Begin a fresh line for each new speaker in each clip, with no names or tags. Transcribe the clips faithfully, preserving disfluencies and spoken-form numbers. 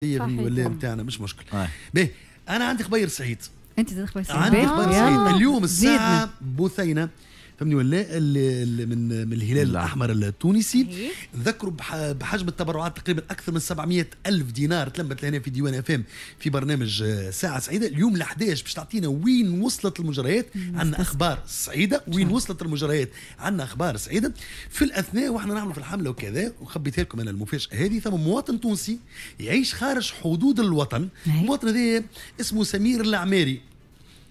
ولا نتاعنا مش مشكل. باهي، انا عندي خبير سعيد.
انت زاد خبير سعيد؟
عندي خبر سعيد اليوم الساعة بثينه، فهمني ولا؟ اللي من من الهلال الاحمر التونسي. ذكروا بحجم التبرعات، تقريبا اكثر من سبعمية الف دينار تلمت لهنا في ديوان اف ام في برنامج ساعة سعيده. اليوم ل حداش باش تعطينا وين وصلت المجريات. عندنا اخبار سعيده، وين وصلت المجريات، عندنا اخبار سعيده. في الاثناء واحنا نعملوا في الحملة وكذا، وخبيتها لكم انا المفاجاة هذه، ثم مواطن تونسي يعيش خارج حدود الوطن. المواطن هذا اسمه سمير العماري،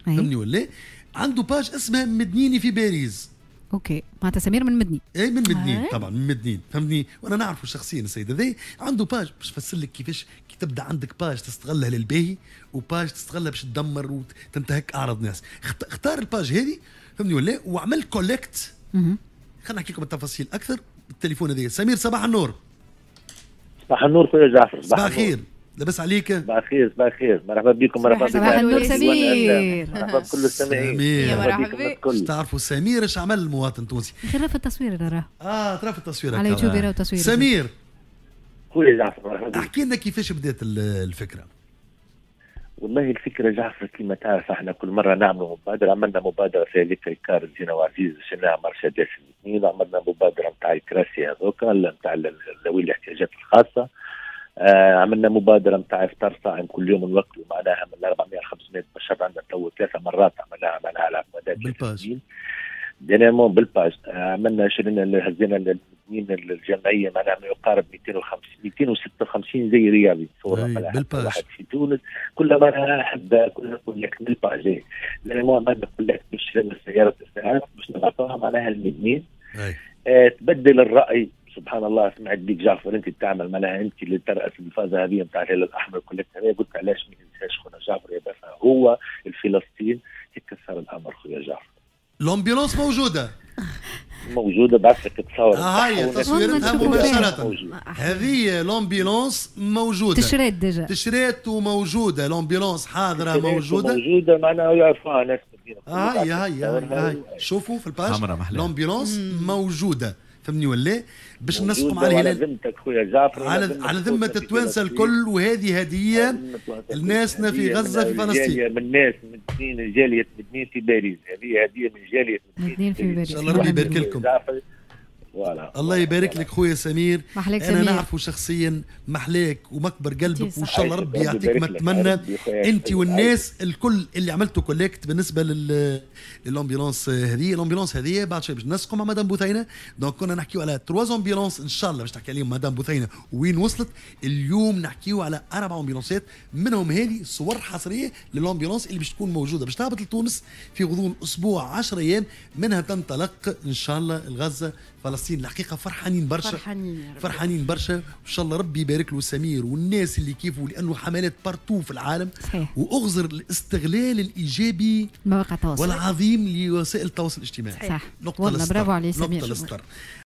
فهمني ولا؟ عنده page اسمها مدنيني في باريس.
OK، معناتها سمير من مدني.
اي، من مدنين طبعا، من مدنين، فهمتني؟ وانا نعرفه شخصيا السيد هذا. عنده page، باش نفسر لك كيفاش كي تبدا عندك page تستغلها للباهي و page تستغلها باش تدمر وتنتهك اعراض ناس. اختار ال page هذه، فهمني ولا؟ وعمل collecte. خلينا نحكي لكم التفاصيل اكثر بالتليفون هذا. سمير، صباح النور.
صباح النور خويا جعفر.
صباح الخير، لاباس عليك؟
صباح الخير، صباح الخير، مرحبا بكم، مرحبا بكم.
صباح النور سمير.
مرحبا بكل السامعين.
مرحبا. تعرفوا سمير ايش عمل؟ المواطن التونسي.
خير في التصوير راه.
اه، ترى في التصوير.
على يوتيوب يراو تصوير.
سمير.
خويا جعفر، مرحبا.
احكي لنا كيفاش بدات الفكره.
والله الفكرة جعفر، كما تعرف احنا كل مرة نعملوا مبادره. عملنا مبادرة في هذيك الكار زينة وعزيز شلناها مرسيدس الاثنين، عملنا مبادرة نتاع الكراسي هذوك نتاع ذوي الاحتياجات الخاصه، آه عملنا مبادرة نتاع افطار صائم، كل يوم نوكلوا معناها من أربعمية ل خمسمية بشر. عندنا تو ثلاثة مرات عملناها معناها على مدى
بال page.
dernièrement بال page عملنا، شرينا، هزينا الاثنين الجمعية معناها ما يقارب ميتين وخمسين ميتين وستة وخمسين زي رياضي.
صورة بال page.
واحد في تونس كل معناها حب كل collecte بال page. dernièrement عملنا collecte باش شرينا سيارة اسعاف باش نبعثوها معناها المدنين. آه تبدل الراي، سبحان الله، سمعت بيك جعفر انت بتعمل معناها انت اللي ترأس الفازة هذه نتاع الهلال الاحمر collecte هذه. قلت علاش ما ننساش خونا جعفر يبقى هو الفلسطين. هيك صار الامر خويا جعفر.
l'ambulance موجوده.
موجوده، بعث لك تصور.
آه، هاي تصويرتها مباشره. هذه l'ambulance موجوده.
تشريت déjà.
تشريت وموجوده، l'ambulance حاضره موجوده.
موجوده، معناها يعرفوها ناس.
هاي هاي هاي، شوفوا في ال page، l'ambulance موجوده، فهمني ولا؟ باش نسقم على
الهلال. على ذمتك خويا جعفر.
على على ذمه التوانسة الكل، وهذه هديه لناسنا في غزه، في فلسطين.
من ناس من جالية مدنين في باريس، هذه هديه من جالية
مدنين في باريس.
ان شاء الله ربي يبارك لكم.
voilà.
الله يبارك لك خويا سمير.
محلاك.
انا
سمير.
نعرفه شخصيا، محلاك ومكبر قلبك، وان شاء الله ربي يعطيك ما تتمنى انت والناس الكل اللي عملتوا collecte بالنسبة لل لل ambulance هذه. l'ambulance هذه بعد شوي باش نسقوا مع مدام بثينه. donc كنا نحكيو على trois ambulances، ان شاء الله باش تحكي عليهم مدام بثينه وين وصلت. اليوم نحكيو على اربع ambulanceات، منهم هذه صور حصرية لل ambulance اللي باش تكون موجوده، باش تهبط لتونس في غضون اسبوع، عشرة ايام منها تنطلق ان شاء الله لغزه، فلسطين. الحقيقة فرحانين برشا.
فرحانين.
فرحانين برشا، وان شاء الله ربي يبارك له سمير والناس اللي كيفه، لانه حملات partout في العالم.
صحيح.
واغزر الاستغلال الايجابي
مواقع التواصل
والعظيم لوسائل التواصل الاجتماعي.
صح.
نقطة
والله
للسطر.
برافو عليه سمير.
نقطة للسطر.